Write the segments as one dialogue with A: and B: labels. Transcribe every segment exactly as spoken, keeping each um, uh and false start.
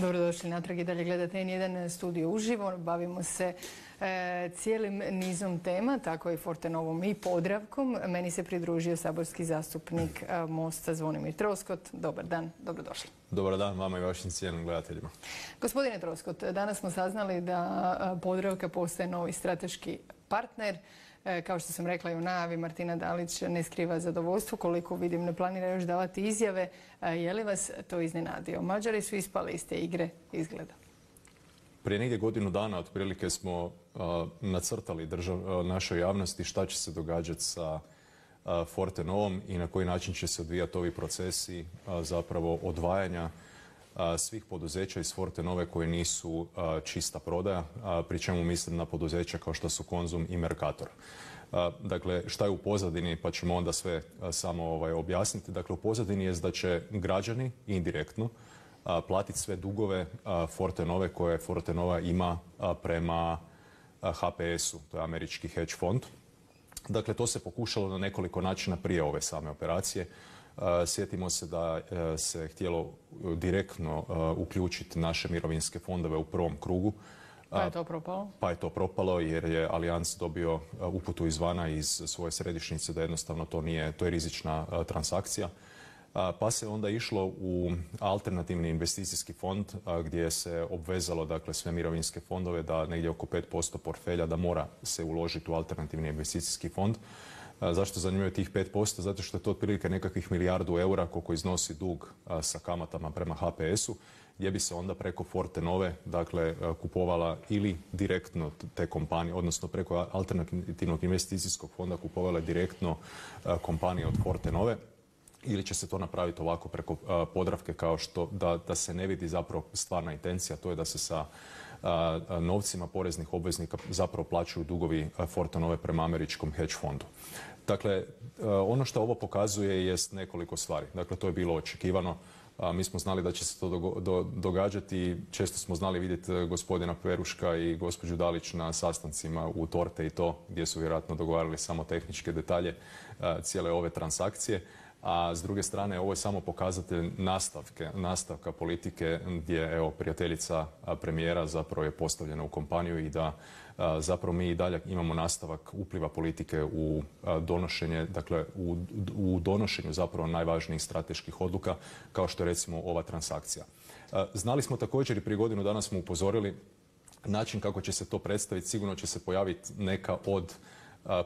A: Dobrodošli natrag i dalje gledate en jedan studio uživo. Bavimo se e, cijelim nizom tema, tako i Fortenovom i Podravkom. Meni se pridružio saborski zastupnik e, Mosta Zvonimir Troskot. Dobar dan, dobrodošli.
B: Dobar dan vama i vašim cijenim gledateljima.
A: Gospodine Troskot, danas smo saznali da Podravka postaje novi strateški partner. Kao što sam rekla i u najavi, Martina Dalić ne skriva zadovoljstvo, koliko vidim ne planira još davati izjave. Je li vas to iznenadio? Mađari su ispali iz te igre, izgleda.
B: Prije negdje godinu dana otprilike smo uh, nacrtali držav, uh, našoj javnosti šta će se događati sa uh, Fortenovom i na koji način će se odvijati ovi procesi uh, zapravo odvajanja svih poduzeća iz Fortenove koje nisu čista prodaja, pri čemu mislim na poduzeća kao što su Konzum i Mercator. Dakle, šta je u pozadini, pa ćemo onda sve samo ovaj, objasniti. Dakle, u pozadini je da će građani indirektno platiti sve dugove Fortenove koje Fortenova ima prema H P S-u, to je američki hedge fond. Dakle, to se pokušalo na nekoliko načina prije ove same operacije. Uh, sjetimo se da uh, se htjelo direktno uh, uključiti naše mirovinske fondove u prvom krugu.
A: Pa je to propalo?
B: Pa je to propalo jer je Allianz dobio uh, uputu izvana iz svoje središnjice da jednostavno to nije, to je rizična uh, transakcija. Uh, pa se onda išlo u alternativni investicijski fond uh, gdje se obvezalo dakle sve mirovinske fondove da negdje oko pet posto portfelja da mora se uložiti u alternativni investicijski fond. Zašto zanimaju tih pet posto? Zato što je to otprilike nekakvih milijardu eura koliko iznosi dug a, sa kamatama prema H P S-u, gdje bi se onda preko Fortenove dakle, kupovala ili direktno te kompanije, odnosno preko alternativnog investicijskog fonda kupovala direktno a, kompanije od Fortenove. Ili će se to napraviti ovako preko a, Podravke kao što da, da se ne vidi zapravo stvarna intencija, to je da se sa a, a, novcima poreznih obveznika zapravo plaćaju dugovi a, Fortenove prema američkom hedge fondu. Dakle, a, ono što ovo pokazuje jest nekoliko stvari. Dakle, to je bilo očekivano. A, mi smo znali da će se to do, do, događati. Često smo znali vidjeti gospodina Peruška i gospođu Dalić na sastancima u Torte i to, gdje su vjerojatno dogovarali samo tehničke detalje a, cijele ove transakcije. A s druge strane, ovo je samo pokazatelj nastavke, nastavka politike gdje evo, prijateljica premijera zapravo je postavljena u kompaniju i da a, zapravo mi i dalje imamo nastavak upliva politike u a, donošenje, dakle u, u donošenju zapravo najvažnijih strateških odluka kao što je recimo ova transakcija. A, znali smo također i prije godinu dana smo upozorili način kako će se to predstaviti, sigurno će se pojaviti neka od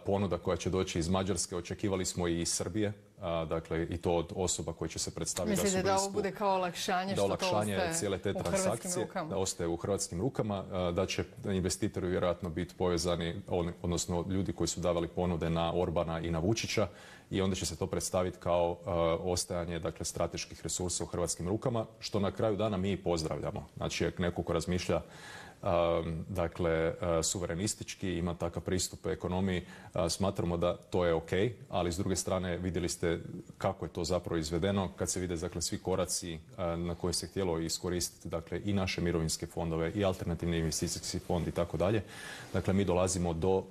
B: ponuda koja će doći iz Mađarske, očekivali smo i iz Srbije, a, dakle i to od osoba koje će se predstaviti.
A: Mislite da, da ovo bude kao olakšanje,
B: da olakšanje
A: što to
B: cijele te transakcije, da ostaje u hrvatskim rukama, a, da će investitori vjerojatno biti povezani, on, odnosno ljudi koji su davali ponude na Orbana i na Vučića i onda će se to predstaviti kao a, ostajanje dakle, strateških resursa u hrvatskim rukama, što na kraju dana mi pozdravljamo. Znači, ako neko ko razmišlja Um, dakle, uh, suverenistički, ima takav pristup ekonomiji, uh, smatramo da to je ok, ali s druge strane vidjeli ste kako je to zapravo izvedeno, kad se vide dakle, svi koraci uh, na koje se htjelo iskoristiti dakle, i naše mirovinske fondove i alternativni investicijski fond i tako dalje. Dakle, mi dolazimo do uh,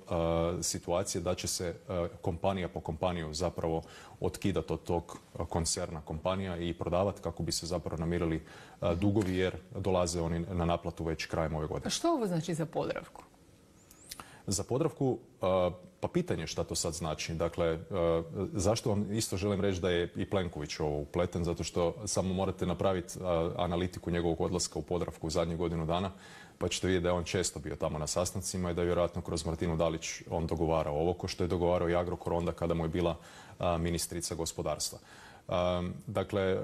B: situacije da će se uh, kompanija po kompaniju zapravo otkidati od tog uh, koncerna kompanija i prodavati kako bi se zapravo namirili uh, dugovi jer dolaze oni na naplatu već krajem ove godine.
A: A što ovo znači za Podravku?
B: Za Podravku, pa pitanje šta to sad znači. Dakle, zašto vam isto želim reći da je i Plenković ovo upleten, zato što samo morate napraviti analitiku njegovog odlaska u Podravku u zadnjih godinu dana, pa ćete vidjeti da je on često bio tamo na sastancima i da je vjerojatno kroz Martinu Dalić on dogovarao ovo, ko što je dogovarao i Agrokor onda kada mu je bila ministrica gospodarstva. Um, dakle,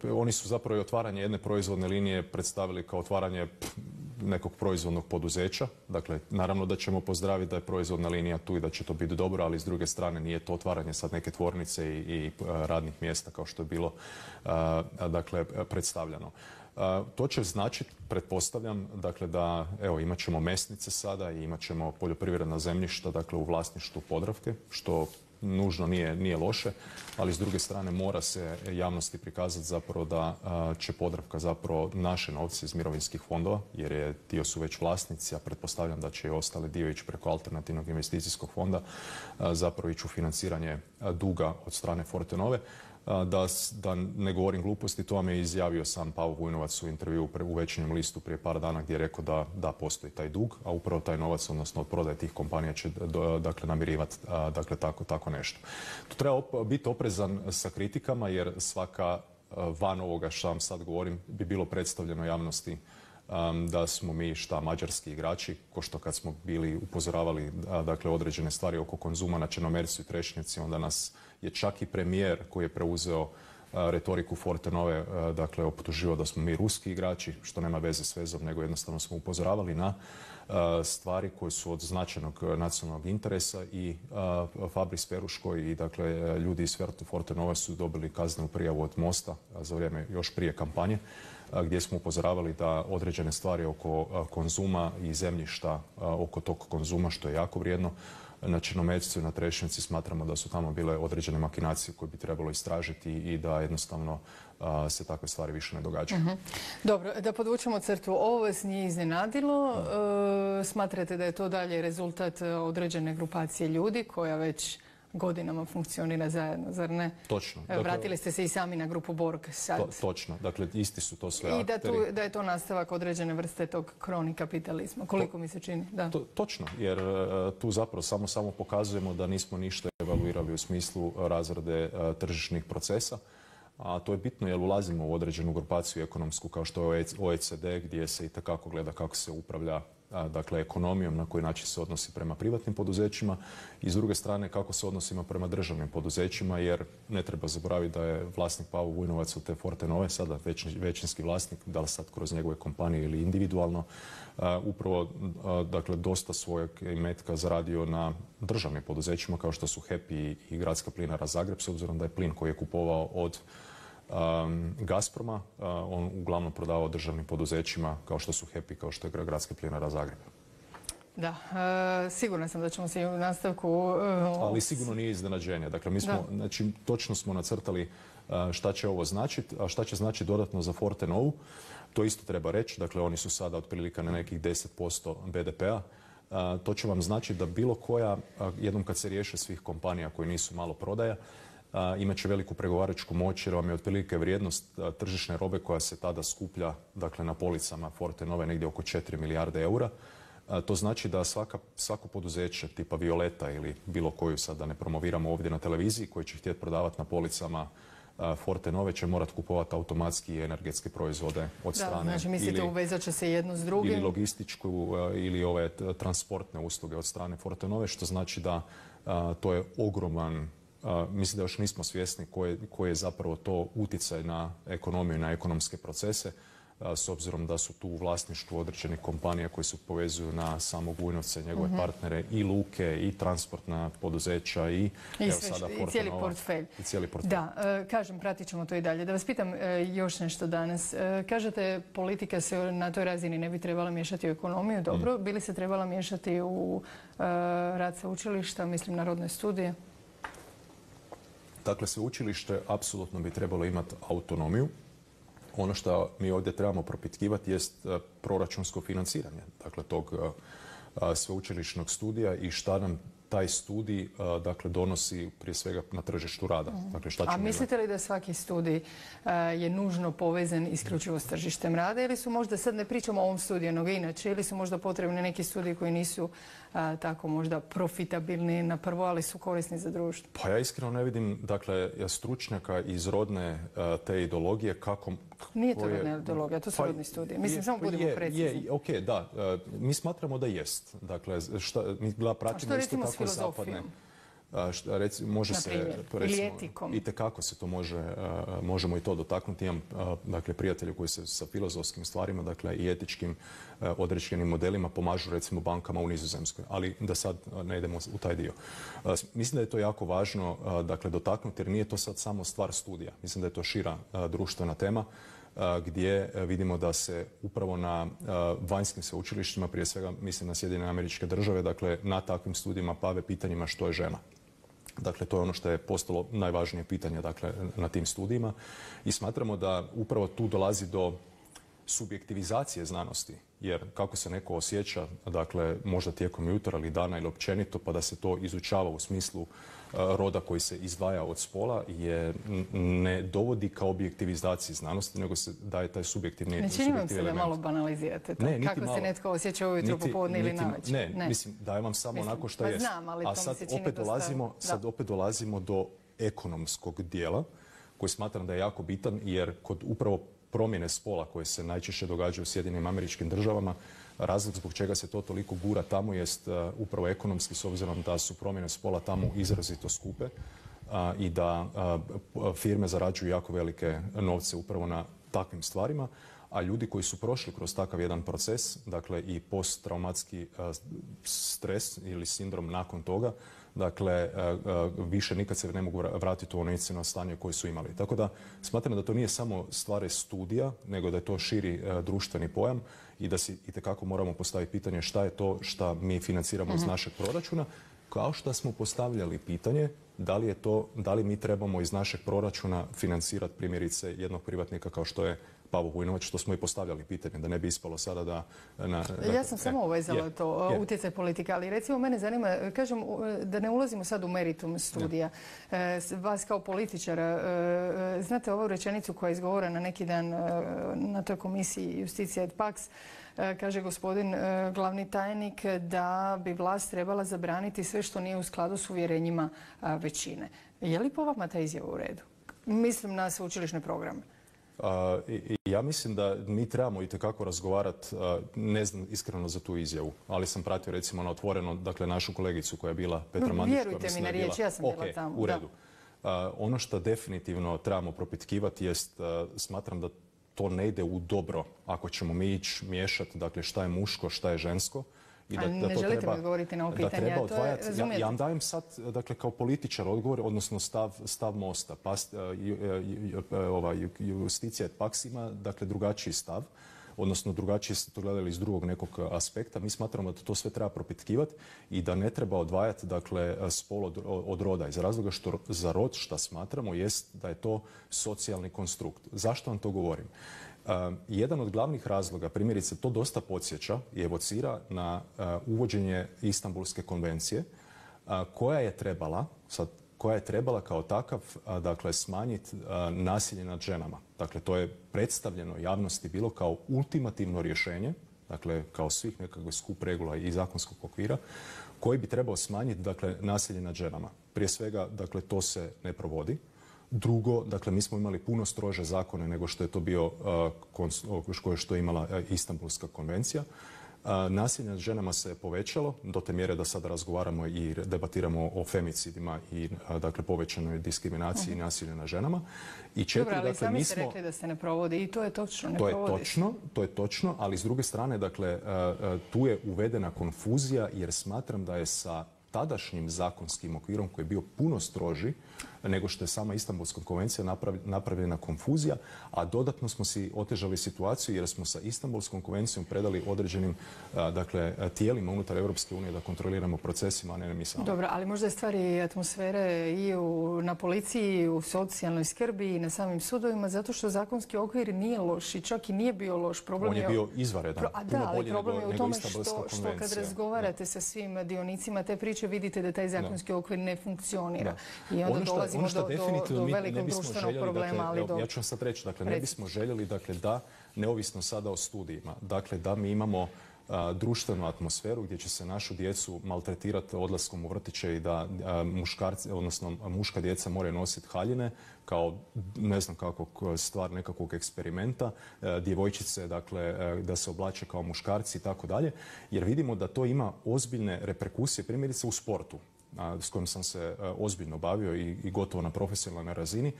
B: uh, oni su zapravo i otvaranje jedne proizvodne linije predstavili kao otvaranje pff, nekog proizvodnog poduzeća. Dakle, naravno da ćemo pozdraviti da je proizvodna linija tu i da će to biti dobro, ali s druge strane nije to otvaranje sad neke tvornice i, i uh, radnih mjesta kao što je bilo uh, dakle, predstavljeno. Uh, to će značiti, pretpostavljam, dakle da evo imat ćemo mesnice sada i imat ćemo poljoprivredna zemljišta dakle, u vlasništvu Podravke, što nužno nije, nije loše, ali s druge strane mora se javnosti prikazati zapravo da a, će Podravka zapravo naše novce iz mirovinskih fondova, jer je dio su već vlasnici, a pretpostavljam da će i ostali dio ići preko alternativnog investicijskog fonda, a, zapravo ići u financiranje a, duga od strane Fortenove. Da, da ne govorim gluposti, to vam je izjavio sam Pavo Vujnovac u intervju u Večernjem listu prije par dana gdje je rekao da, da postoji taj dug, a upravo taj novac, odnosno od prodaje tih kompanija će dakle, namirivati dakle, tako, tako nešto. Tu treba op- biti oprezan sa kritikama jer svaka van ovoga što vam sad govorim bi bilo predstavljeno javnosti um, da smo mi šta mađarski igrači, ko što kad smo bili upozoravali dakle, određene stvari oko Konzuma na Črnomercu i Trešnjevci, onda nas je čak i premijer koji je preuzeo retoriku Fortenove, dakle, optuživao da smo mi ruski igrači, što nema veze s vezom, nego jednostavno smo upozoravali na stvari koje su od značajnog nacionalnog interesa i Fabris Peruško i dakle, ljudi iz Fortenove su dobili kaznenu prijavu od Mosta za vrijeme još prije kampanje, gdje smo upozoravali da određene stvari oko Konzuma i zemljišta oko tog Konzuma, što je jako vrijedno, na Črnomercu i na Trešnjevci smatramo da su tamo bile određene makinacije koje bi trebalo istražiti i da jednostavno a, se takve stvari više ne događaju. Uh-huh.
A: Dobro, da podvučemo crtu. Ovo vas nije iznenadilo. Uh-huh. E, smatrate da je to dalje rezultat određene grupacije ljudi koja već godinama funkcionira zajedno, zar ne?
B: Točno.
A: Dakle, vratili ste se i sami na grupu Borg sad. To,
B: točno. Dakle, isti su to sve
A: I
B: akteri.
A: da, tu, da je to nastavak određene vrste tog kroni kapitalizma. Koliko to, mi se čini? Da.
B: To, točno, jer uh, tu zapravo samo, samo pokazujemo da nismo ništa evaluirali u smislu razrade uh, tržišnih procesa. A to je bitno jer ulazimo u određenu grupaciju ekonomsku kao što je O E C D gdje se i takako gleda kako se upravlja dakle ekonomijom, na koji način se odnosi prema privatnim poduzećima i s druge strane kako se odnosimo prema državnim poduzećima jer ne treba zaboraviti da je vlasnik Pavo Vujnovac od te Fortenove, sada većinski vlasnik, da li sad kroz njegove kompanije ili individualno, uh, upravo uh, dakle dosta svojeg imetka zaradio na državnim poduzećima kao što su H E P i, i Gradska plinara Zagreb, s obzirom da je plin koji je kupovao od Um, Gazproma, uh, on uglavnom prodavao državnim poduzećima kao što su H E P i kao što je Gradska plinara Zagreb.
A: Da, uh, sigurna sam da ćemo se i u nastavku... Uh,
B: Ali sigurno nije iznenađenje. Dakle, mi smo, znači, točno smo nacrtali uh, šta će ovo značiti, a šta će značiti dodatno za Fortenovu. To isto treba reći. Dakle, oni su sada otprilike na nekih deset posto B D P-a. Uh, to će vam znači da bilo koja, uh, jednom kad se riješe svih kompanija koji nisu malo prodaja, Uh, imat će veliku pregovaračku moć jer vam je otprilike vrijednost uh, tržišne robe koja se tada skuplja dakle, na policama Fortenove negdje oko četiri milijarde eura. Uh, to znači da svaka, svako poduzeće tipa Violeta ili bilo koju sad da ne promoviramo ovdje na televiziji koji će htjeti prodavati na policama uh, Fortenove će morati kupovati automatski energetske proizvode od
A: da,
B: strane.
A: Znači mislite
B: ili,
A: uvezat će se jedno s drugim?
B: Ili logističku uh, ili ove transportne usluge od strane Fortenove što znači da uh, to je ogroman Uh, mislim da još nismo svjesni koji je, je zapravo to utjecaj na ekonomiju i na ekonomske procese, uh, s obzirom da su tu u vlasništvu određenih kompanija koji se povezuju na samog Vujnovca i njegove uh-huh. partnere i luke i transportna poduzeća i,
A: I,
B: evo,
A: sve,
B: sada
A: i cijeli portfelj.
B: I cijeli portfelj.
A: Da, uh, kažem, pratit ćemo to i dalje. Da vas pitam uh, još nešto danas. Uh, kažete, politika se na toj razini ne bi trebala miješati u ekonomiju, dobro. Mm. Bi li se trebala miješati u uh, rad sveučilišta, mislim na rodne studije?
B: Dakle, sveučilište apsolutno bi trebalo imati autonomiju. Ono što mi ovdje trebamo propitkivati jest proračunsko financiranje dakle, tog sveučilišnog studija i šta nam taj studij dakle, donosi prije svega na tržištu rada. Dakle, šta
A: A mislite li da svaki studij je nužno povezan isključivo s tržištem rada ili su možda, sad ne pričamo o ovom studiju, nego inače, ili su možda potrebni neki studiji koji nisu a, tako možda profitabilni na prvo, ali su korisni za društvo?
B: Pa ja iskreno ne vidim, dakle, stručnjaka iz rodne a, te ideologije kako...
A: Nije to rodna ideologija, to su pa, rodni studiji. Mislim, je, samo budemo
B: je,
A: precizni.
B: Je, ok, da. A, mi smatramo da jest. Dakle, šta, mi pratimo isto tako zapadne... Šta, reci, može se,
A: ili etikom.
B: Itekako se to može, uh, možemo i to dotaknuti. Imam uh, dakle, prijatelju koji se sa filozofskim stvarima dakle, i etičkim uh, određenim modelima pomažu recimo bankama u Nizozemskoj. Ali da sad uh, ne idemo u taj dio. Uh, mislim da je to jako važno uh, dakle, dotaknuti jer nije to sad samo stvar studija. Mislim da je to šira uh, društvena tema gdje vidimo da se upravo na vanjskim sveučilištima, prije svega mislim na Sjedinjene Američke Države, dakle na takvim studijima bave pitanjima što je žena. Dakle, to je ono što je postalo najvažnije pitanje dakle, na tim studijima i smatramo da upravo tu dolazi do subjektivizacije znanosti, jer kako se neko osjeća, dakle, možda tijekom jutra ili dana ili općenito, pa da se to izučava u smislu uh, roda koji se izdvaja od spola, je ne dovodi ka objektivizaciji znanosti, nego se daje taj subjektivni element.
A: Ne čini vam se da malo banalizirate to?
B: Ne,
A: kako
B: malo.
A: Se netko osjeća ujutro, popodne ili navečer?
B: Ne, ne, mislim, dajem vam samo onako što je.
A: Znam, ali
B: a sad opet, dolazimo, sad opet dolazimo do ekonomskog dijela, koji smatram da je jako bitan, jer kod upravo promjene spola koje se najčešće događaju u Sjedinjenim Američkim Državama, razlog zbog čega se to toliko gura tamo jest uh, upravo ekonomski, s obzirom da su promjene spola tamo izrazito skupe uh, i da uh, firme zarađuju jako velike novce upravo na takvim stvarima, a ljudi koji su prošli kroz takav jedan proces, dakle i posttraumatski uh, stres ili sindrom nakon toga, dakle, više nikad se ne mogu vratiti u ono inicijalno stanje koje su imali. Tako da smatram da to nije samo stvar studija, nego da je to širi društveni pojam i da si itekako moramo postaviti pitanje šta je to šta mi financiramo iz našeg proračuna, kao što smo postavljali pitanje da li je to, da li mi trebamo iz našeg proračuna financirati primjerice jednog privatnika kao što je Pavo Vujnovac, što smo i postavljali pitanje, da ne bi ispalo sada da... Na, da
A: ja sam e, samo uvezala je, to, je. utjecaj politika, ali recimo mene zanima, kažem, da ne ulazimo sad u meritum studija. E, vas kao političara, e, znate ovu rečenicu koja je izgovorena neki dan e, na toj komisiji Justicija et Pax, e, kaže gospodin e, glavni tajnik da bi vlast trebala zabraniti sve što nije u skladu s uvjerenjima a, većine. Je li po vama ta izjava u redu? Mislim na sveučilišne programe.
B: Uh, i, ja mislim da mi trebamo itekako razgovarati, uh, ne znam iskreno za tu izjavu, ali sam pratio recimo na Otvoreno, dakle našu kolegicu koja je bila Petra Mandić.
A: Vjerujte mi na riječ, ja sam
B: okay,
A: bila tamo.
B: U redu. Uh, ono što definitivno trebamo propitkivati jest, uh, smatram da to ne ide u dobro ako ćemo mi ići miješati, dakle šta je muško, šta je žensko.
A: I da, da ne to želite treba, mi odgovoriti na ovo pitanje,
B: da treba odvajati. Ja, ja vam dajem sad, dakle, kao političar odgovor, odnosno stav, stav Mosta. Pas, ova, Justicija et Pax ima, dakle, drugačiji stav, odnosno drugačije ste to gledali iz drugog nekog aspekta. Mi smatramo da to sve treba propitkivati i da ne treba odvajati, dakle, spol od, od roda. Iz razloga što za rod, što smatramo, jest da je to socijalni konstrukt. Zašto vam to govorim? Uh, jedan od glavnih razloga, primjerice, to dosta podsjeća i evocira na uh, uvođenje Istanbulske konvencije, uh, koja je trebala, sad, koja je trebala kao takav, uh, dakle, smanjiti uh, nasilje nad ženama. Dakle, to je predstavljeno javnosti bilo kao ultimativno rješenje, dakle, kao svih nekakvih skup regula i zakonskog okvira, koji bi trebao smanjiti, dakle, nasilje nad ženama. Prije svega, dakle, to se ne provodi. Drugo, dakle, mi smo imali puno strože zakone nego što je to bio, uh, što je imala uh, Istanbulska konvencija. Uh, nasilje nad ženama se povećalo do te mjere da sada razgovaramo i debatiramo o femicidima i uh, dakle, povećanoj diskriminaciji uh-huh. i nasilju nad ženama. I četiri,
A: Dobro, ali
B: dakle,
A: sami
B: mi
A: ste
B: smo,
A: rekli da se ne provodi i to je točno, ne
B: to je
A: provodi
B: točno, to je točno, ali s druge strane, dakle, uh, tu je uvedena konfuzija jer smatram da je sa tadašnjim zakonskim okvirom koji je bio puno stroži nego što je sama Istanbulska konvencija napravljena konfuzija, a dodatno smo si otežali situaciju jer smo sa Istanbulskom konvencijom predali određenim dakle, tijelima unutar Europske unije da kontroliramo procesima, a ne mi sami.
A: Dobro, ali možda je stvari atmosfere i u, na policiji, i u socijalnoj skrbi i na samim sudovima, zato što zakonski okvir nije loš i čak i nije bio loš. Problem
B: On je bio izvanredan,
A: Pro, a da, ali problem je u tome što, što kad razgovarate da. sa svim dionicima te priče vidite da taj zakonski da. okvir ne funkcionira. Da. I onda ono što, dolazimo ono što do, do, do velikog društvenog problema.
B: Dakle,
A: ali do...
B: Ja ću vam sad reći, dakle, ne bismo željeli dakle, da, neovisno sada o studijima, dakle, da mi imamo a, društvenu atmosferu gdje će se našu djecu maltretirati odlaskom u vrtiće i da a, muškarci, odnosno muška djeca moraju nositi haljine kao, ne znam kakvog stvar nekakvog eksperimenta, a, djevojčice, dakle, a, da se oblače kao muškarci i tako dalje, jer vidimo da to ima ozbiljne reperkusije, primjerice u sportu, s kojim sam se ozbiljno bavio i, i gotovo na profesionalnoj razini,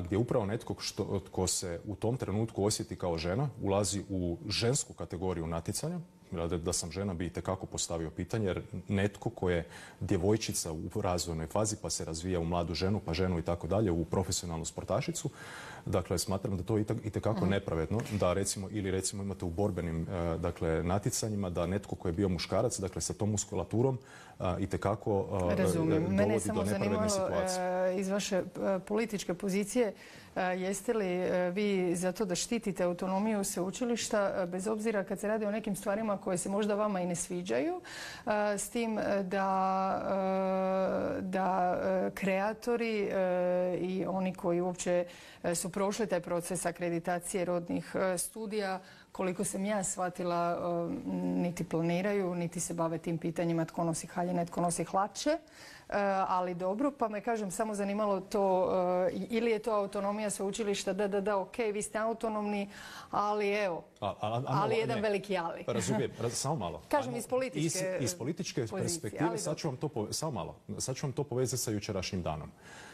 B: gdje upravo netko što, tko se u tom trenutku osjeti kao žena, ulazi u žensku kategoriju natjecanja, da sam žena bi itekako postavio pitanje, jer netko ko je djevojčica u razvojnoj fazi pa se razvija u mladu ženu, pa ženu i tako dalje, u profesionalnu sportašicu, dakle smatram da to je itekako nepravedno, da recimo, ili recimo imate u borbenim dakle, natjecanjima da netko ko je bio muškarac, dakle sa tom muskulaturom itekako dovodi do nepravedne situacije.
A: Iz vaše političke pozicije, jeste li vi za to da štitite autonomiju sveučilišta, bez obzira kad se radi o nekim stvarima koje se možda vama i ne sviđaju, s tim da, da kreatori i oni koji uopće su prošli taj proces akreditacije rodnih studija, koliko sam ja shvatila, niti planiraju, niti se bave tim pitanjima tko nosi haljine, tko nosi hlače. Ali dobro, pa me kažem samo zanimalo to, ili je to autonomija sveučilišta, da, da, da, ok, vi ste autonomni, ali evo, a, a, a, ali jedan ne, veliki ali.
B: Razumijem, raz, samo malo.
A: Kažem iz političke
B: Iz, iz političke pozicije, perspektive, sad ću, vam to, samo malo, sad ću vam to povezati sa jučerašnjim danom.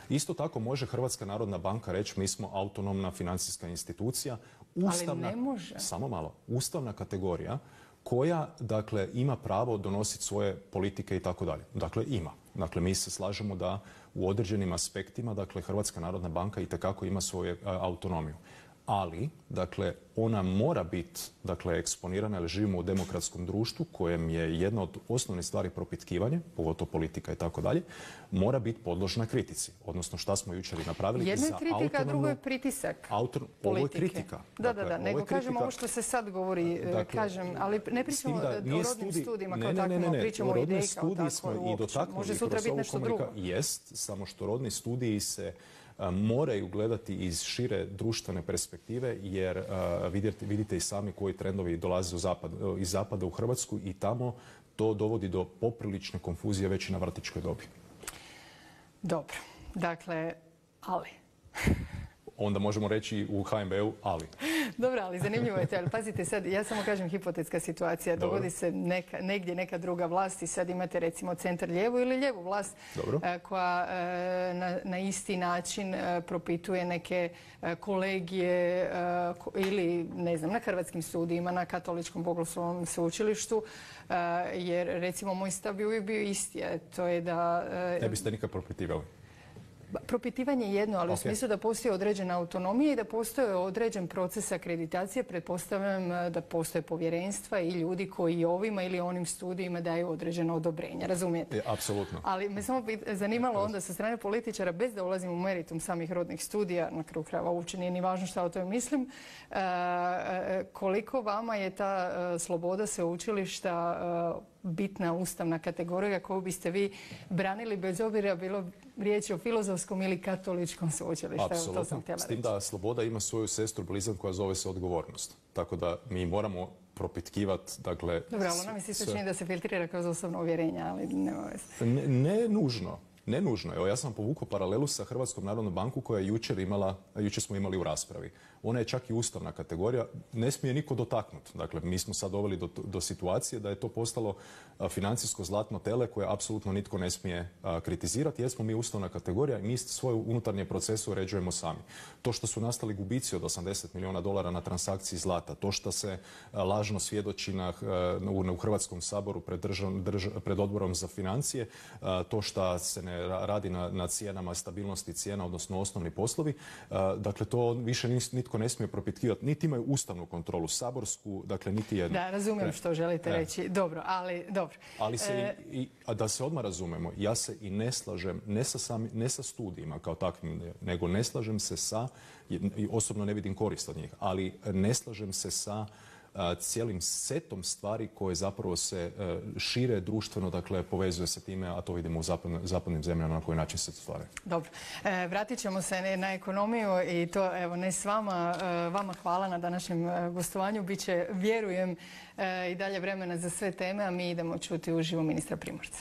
B: Isto tako može Hrvatska narodna banka reći mi smo autonomna financijska institucija, ustavna,
A: ali ne može.
B: Samo malo, ustavna kategorija koja, dakle, ima pravo donositi svoje politike i tako dalje. Dakle, ima. Dakle, mi se slažemo da u određenim aspektima, dakle, Hrvatska narodna banka itekako ima svoju autonomiju. Ali, dakle, ona mora biti, dakle, eksponirana, jer živimo u demokratskom društvu kojem je jedna od osnovnih stvari propitkivanje, pogotovo politika i tako dalje, mora biti podložna kritici. Odnosno, šta smo jučer i napravili.
A: Jedno je kritika, a drugo je pritisak
B: autor,
A: politike.
B: Ovo je kritika.
A: Da, da, da, nego kažem ovo što se sad govori, dakle, kažem, ali ne pričamo o rodnim studi... studijima kao takvima, pričamo o ideji kao tako uopće. Može sutra biti nešto drugo.
B: Jest, samo što rodni studiji se moraju gledati iz šire društvene perspektive, jer uh, vidite, vidite i sami koji trendovi dolaze u zapad, iz zapada u Hrvatsku i tamo to dovodi do poprilične konfuzije već i na vrtićkoj dobi.
A: Dobro, dakle, ali...
B: Onda možemo reći u H N B-u ali.
A: Dobro, ali zanimljivo je to. Ali pazite sad, ja samo kažem hipotetska situacija. Dobro. Dogodi se neka, negdje neka druga vlast i sad imate recimo centar lijevu ili lijevu vlast Dobro. koja na, na isti način propituje neke kolegije ili ne znam, na hrvatskim studijima, na katoličkom bogoslovnom sveučilištu. Jer recimo moj stav bi uvijek bio isti. To je da...
B: Ne biste nikad propitivali?
A: Propitivanje je jedno, ali okay. u smislu da postoji određena autonomija i da postoji određen proces akreditacije. Pretpostavljam da postoje povjerenstva i ljudi koji ovima ili onim studijima daju određeno odobrenje. Razumijete?
B: Je, apsolutno.
A: Ali me samo zanimalo onda sa strane političara, bez da ulazim u meritum samih rodnih studija, na kraju krajeva uopće nije ni važno šta o tome mislim, koliko vama je ta sloboda sveučilišta bitna ustavna kategorija koju biste vi branili bez obzira bilo riječ o filozofskom ili katoličkom sveučilištu.
B: Apsolutno. S tim da sloboda ima svoju sestru blizan koja zove se odgovornost. Tako da mi moramo propitkivati, dakle...
A: Dobro, ali ona mi se čini da se filtrira kroz osobno uvjerenje, ali nema veze.
B: Ne, ne nužno. Ne nužno. Evo, ja sam povukao paralelu sa Hrvatskom narodnom bankom koja je jučer imala, jučer smo imali u raspravi. Ona je čak i ustavna kategorija, ne smije niko dotaknuti. Dakle, mi smo sad doveli do, do situacije da je to postalo financijsko zlatno tele koje apsolutno nitko ne smije a, kritizirati, jer smo mi ustavna kategorija i mi svoje unutarnje procese uređujemo sami. To što su nastali gubici od osamdeset milijuna dolara na transakciji zlata, to što se a, lažno svjedoči na, a, u, u Hrvatskom saboru pred, držav, drž, pred odborom za financije, a, to što se ne radi na, na cijenama, stabilnosti cijena, odnosno osnovni poslovi. Dakle, to više nitko ne smije propitkivati. Niti imaju ustavnu kontrolu, saborsku, dakle, niti jedno.
A: Da, razumijem e, što želite e. reći. Dobro, ali dobro.
B: Ali se e... i, a da se odmah razumemo, ja se i ne slažem, ne sa, sami, ne sa studijima kao takvim, nego ne slažem se sa, i osobno ne vidim korist od njih, ali ne slažem se sa cijelim setom stvari koje zapravo se šire društveno, dakle povezuje se time, a to vidimo u zapadnim, zapadnim zemljama na koji način se to stvara.
A: Dobro. E, vratit ćemo se na ekonomiju i to evo ne s vama. E, vama hvala na današnjem gostovanju. Biće, vjerujem, e, i dalje vremena za sve teme, a mi idemo čuti uživo ministra Primorca.